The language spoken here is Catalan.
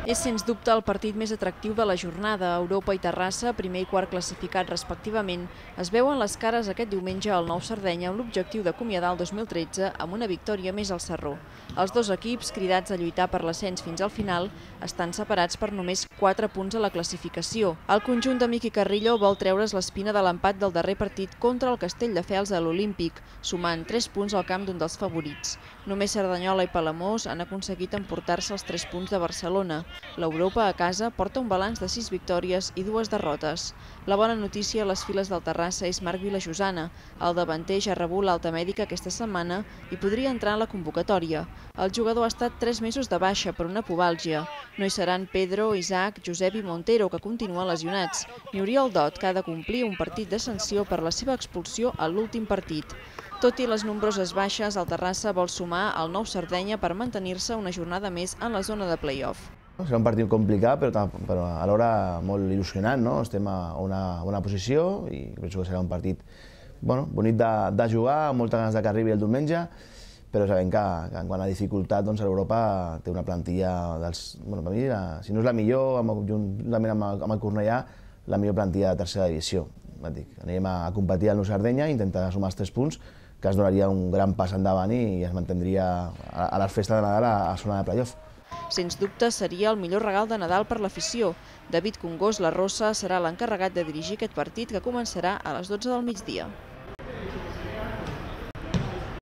És sens dubte el partit més atractiu de la jornada. Europa i Terrassa, primer i quart classificat respectivament, es veuen les cares aquest diumenge al Nou Sardenya amb l'objectiu d'acomiadar el 2013 amb una victòria més al Sarró. Els dos equips, cridats a lluitar per l'ascens fins al final, estan separats per només 4 punts a la classificació. El conjunt de Miqui Carrillo vol treure's l'espina de l'empat del darrer partit contra el Castelldefels a l'Olímpic, sumant 3 punts al camp d'un dels favorits. Només Cerdanyola i Palamós han aconseguit emportar-se els 3 punts de Barcelona. L'Europa a casa porta un balanç de 6 victòries i 2 derrotes. La bona notícia a les files del Terrassa és Marc Vilajosana. El davanter ja ha rebut l'alta mèdica aquesta setmana i podria entrar en la convocatòria. El jugador ha estat 3 mesos de baixa per una pubàlgia. No hi seran Pedro, Isaac, Josep i Montero, que continuen lesionats, ni Oriol Dot, que ha de complir un partit de sanció per la seva expulsió a l'últim partit. Tot i les nombroses baixes, el Terrassa vol sumar al Nou Sardenya per mantenir-se una jornada més en la zona de play-off. Serà un partit complicat, però alhora molt il·lusionant, no? Estem a una bona posició i penso que serà un partit bonic de jugar, amb moltes ganes que arribi el diumenge, però sabem que en quant a dificultat, l'Europa té una plantilla per mi, si no és la millor, juntament amb el Cornellà, la millor plantilla de tercera divisió. Anirem a competir al Nou Sardenya, intentar sumar els 3 punts, que es donaria un gran pas endavant i es mantindria a les festes de Nadal a zona de play-off. Sens dubte seria el millor regal de Nadal per l'afició. David Congós La Rosa serà l'encarregat de dirigir aquest partit que començarà a les 12 del migdia.